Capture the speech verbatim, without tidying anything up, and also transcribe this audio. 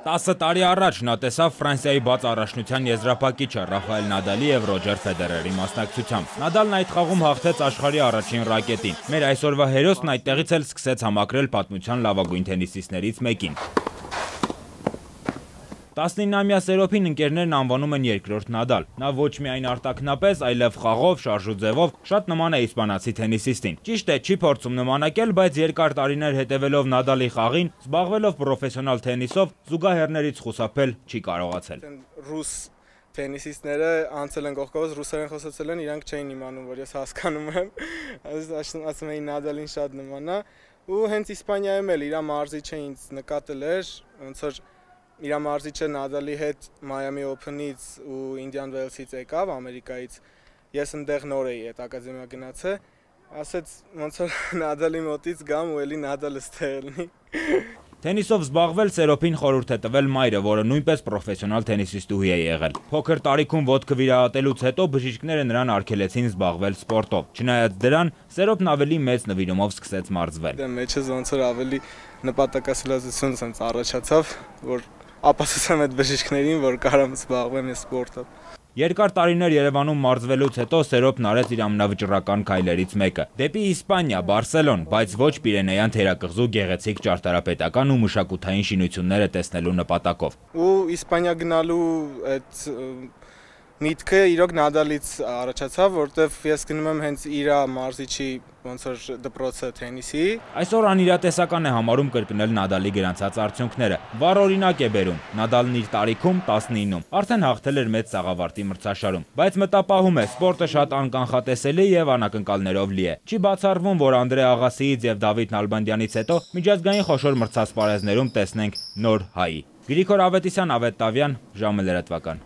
տասը տարի առաջ նա տեսավ Ֆրանսիայի բաց առաջնության եզրափակիչը Ռաֆայել Նադալի եւ Ռոջեր Ֆեդերերի մասնակցությամբ։ Նադալն այդ խաղում հաղթեց աշխարհի առաջին ռակետին։ Մեր այսօրվա հերոսն այդտեղից էլ սկսեց համակրել պատմության լավագույն թենիսիստներից մեկին։ տասնինամյա Սերոփին ընկերներն անվանում են երկրորդ Նադալ։ Նա ոչ միայն արտաքնապես, այլև խաղով, շարժու ձևով շատ նման է իսպանացի թենիսիստին։ Ճիշտ է, չի փորձում նմանակել, բայց երկար տարիներ հետևելով Նադալի խաղին, զբաղվելով պրոֆեսիոնալ թենիսով, զուգահեռներից խուսափել չի կարողացել։ Ռուս թենիսիստները անցել են կողքով, ռուսերեն խոսացել են, իրանք չէին իմանում, որ ես հասկանում եմ։ Ասում էին Նադալին շատ նման է, ու հենց Իսպանիայում էլ իր մարզիչը ինձ նկատել էր, ոնց որ իր մարզիչը Նադալի հետ Miami Open-ից ու Indian Wells-ից եկավ Ամերիկայից, ես այնտեղ նոր էի այդ ակադեմիա գնացել, ասեց ոնց որ Նադալի մոտից գամ ու էլի Նադալը ստեղ լինի։ Թենիսով զբաղվել Սերոփին խորհուրդ է տվել մայրը, որը նույնպես պրոֆեսիոնալ թենիսիստուհի է եղել։ Փոքր տարիքում ոտքը վիրահատելուց հետո բժիշկները նրան արգելեցին զբաղվել սպորտով։ Չնայած դրան, Սերոփն ավելի մեծ նվիրումով սկսեց մարզվել։ Դե մեջս ոնց որ ավելի նպատակասլացություն ցած առաջացավ, որ ապացուցեմ այդ բժիշկներին, որ կարամ զբաղվեմ ես սպորտով։ Երկար տարիներ Երևանում մարզվելուց հետո Սերոփն արեց իր ամենավճռական քայլերից մեկը՝ դեպի Իսպանիա, Բարսելոն, բայց ոչ Պիրենեյան թերակղզու գեղեցիկ ճարտարապետական ու մշակութային շինությունները տեսնելու նպատակով։ Ու Իսպանիա գնալու այդ միտքը իրոք Նադալից առաջացավ, որտեվ ես գնում եմ հենց իր մարզիչի ոնց որ դպրոցը թենիսի։ Այսօր անիրատեսական է համարում կրկնել Նադալի գրանցած արդյունքները։ Վառ օրինակ է բերում։ Նադալն իր տարիքում տասնինում արդեն հաղթել էր մեծ սաղավարտի մրցաշարում, բայց մտապահում է, սպորտը շատ անկանխատեսելի եւ անակնկալներով լի է։ Չի բացառվում, որ Անդրեա Աղասիից եւ Դավիթ Նալբանդյանից հետո միջազգային խոշոր մրցասպարեզներում տեսնենք նոր հայի։ Գրիգոր Ավետիսյան, Ավետ Տավյան, ժամը լրատվական։